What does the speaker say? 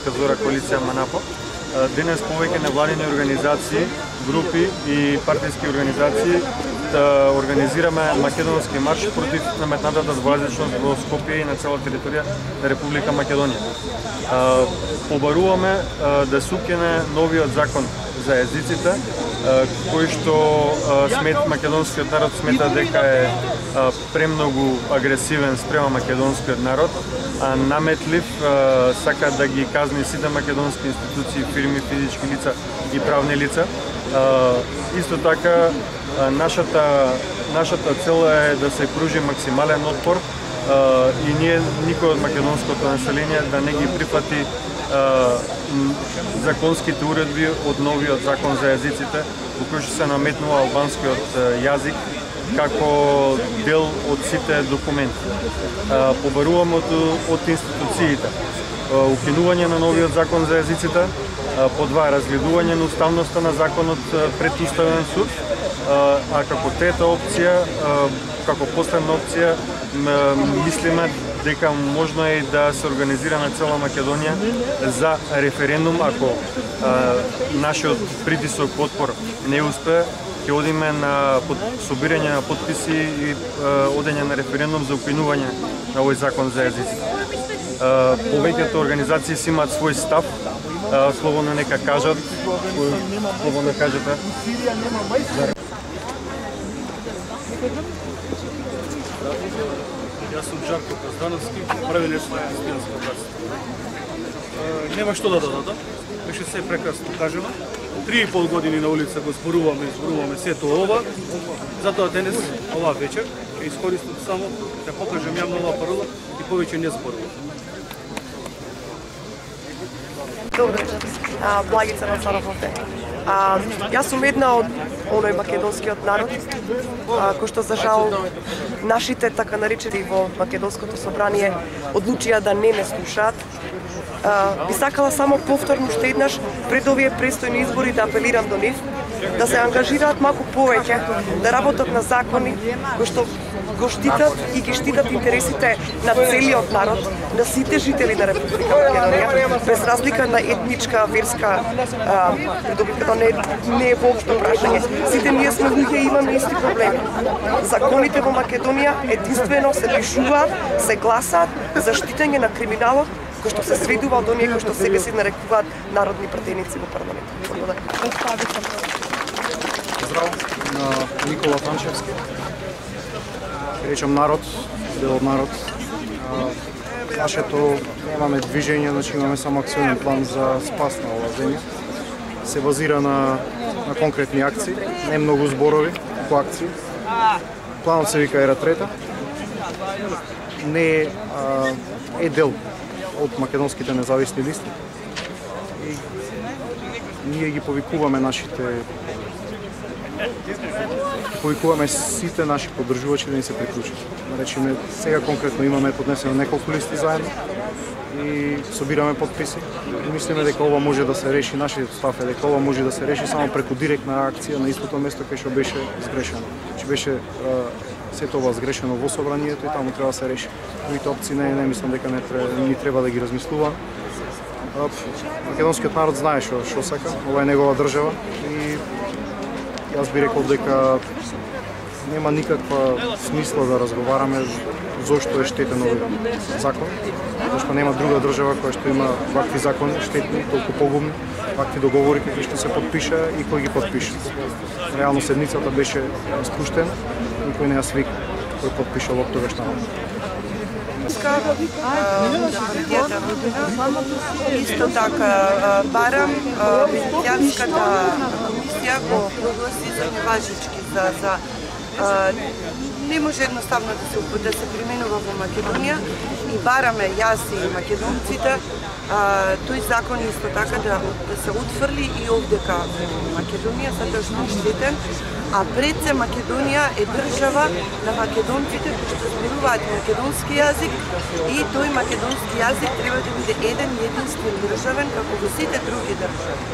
Македонска зора коалиција МАНАПО. Денес повеќе невладини организации, групи и партиски организации да организираме македонски марш против наметнатата двојазичност во Скопје и на цела територија на Република Македонија. Побаруваме да се укине новиот закон за езиците, кој што македонскиот народ смета дека е премногу агресивен спрема македонскиот народ, наметлив, сака да ги казни сите македонски институции, фирми, физички лица и правни лица. Исто така, нашата цел е да се пружи максимален отпор и ние, никој од македонското население, да не ги прифати законските уредби од новиот закон за езиците, во кој што се наметнува албанскиот јазик како дел од сите документи. Побаруваме од институциите укинување на новиот закон за езиците, по два, разгледување на уставноста на законот пред Уставен суд, а како трета опција, како последна опција, мислиме дека можно е да се организира на цела Македонија за референдум, ако нашиот притисок отпор не успе, ќе одиме на собирање на подписи и одење на референдум за укинување на овој закон за езиците. Повеќето организации си имаат свој став, слободно нека кажат, слободно кажете. Јас сум Жарко Каздановски, правилеш на Стијанско братство. Нема што да додадам, беше се прекрасно кажано. 3,5 години на улица го зборуваме сето ова, затоа денес, оваа вечер, ќе искористам само да покажам јавно оваа парола и повеќе не зборувам. Добро, Благица на Царововте. Јас сум една од оној македонскиот народ, кој што за жал нашите така наречени во македонското собрание одлучија да не ме слушаат. Би сакала само повторно уште еднаш пред овие престојни избори да апелирам до нив да се ангажираат малку повеќе, да работат на закони кои што го штитат и ги штитат интересите на целиот народ, на сите жители на Република Македонија, без разлика на етничка, верска придобивка, не е воопшто прашање. Сите ние сме луѓе и имаме исти проблеми. Законите во Македонија единствено се пишуваат, се гласаат за штитење на криминалот, кој што се сведува до оние кои што себе си нарекуваат народни пратеници во парламентот. Здрав на Никола Танчевски. Речам народ, дел од народ. Нашето немаме движење, значи имаме само акционен план за спас на оваа земја. Се базира на конкретни акции, не многу зборови, по акции. Планот се вика Ера трета. Не е дел од македонските независни листи. И ние ги повикуваме сите наши поддржувачи да ни се приклучат. Речеме, сега конкретно имаме поднесено неколку листи заедно и собираме подписи. И мислиме дека ова може да се реши, нашиот став е дека ова може да се реши само преку директна акција на истото место кај што беше сгрешено. Че беше сето ова сгрешено во собранието и таму треба да се реши. Другите опции не мислам дека ни треба да ги размислува. Македонскиот народ знае што сака, ова е негова држава и јас би рекол дека нема никаква смисла да разговараме зошто е штетен овој закон, зашто нема друга држава која што има вакви закони штетни, толку погубни, вакви договори кои што се подпиша и кој ги подпиша. Реално седницата беше спуштена, никој не ја свика кој подпишал од тогаш таму. Исто така барам Венецијанската комисија го прогласи за неважички, не може едноставно да се применува во Македонија и бараме јас и македонците тој закон исто така да се утврли и овдека во Македонија, затоа што е штетен, а пред се Македонија е држава на македонците кои што зборуваат македонски јазик и тој македонски јазик треба да биде еден единствен државен како во сите други држави.